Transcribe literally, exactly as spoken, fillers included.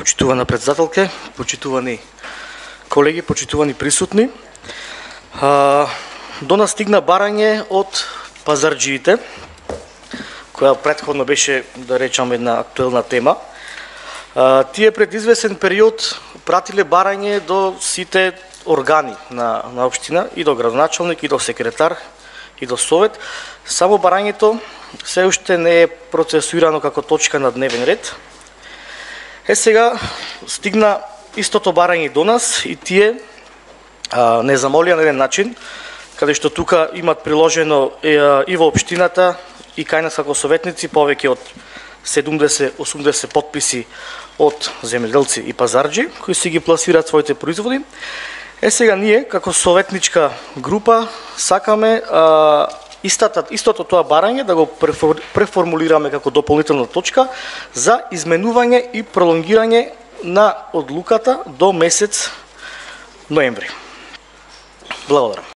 Почитувана председателке, почитувани колеги, почитувани присутни. До нас стигна барање од пазарџиите, која претходно беше, да речам, една актуелна тема. Тие пред извесен период пратиле барање до сите органи на, на општина, и до градоначалник, и до секретар, и до совет. Само барањето се уште не е процесуирано како точка на дневен ред. Е, сега стигна истото барање до нас и тие а, не замолија на еден начин, каде што тука имат приложено е, и во општината и кај нас како советници повеќе од седумдесет до осумдесет подписи од земјоделци и пазарџи кои си ги пласираат своите производи. Е, сега ние како советничка група сакаме а, Истата, истото тоа барање да го преформулираме како дополнителна точка за изменување и пролонгирање на одлуката до месец ноември. Благодарам.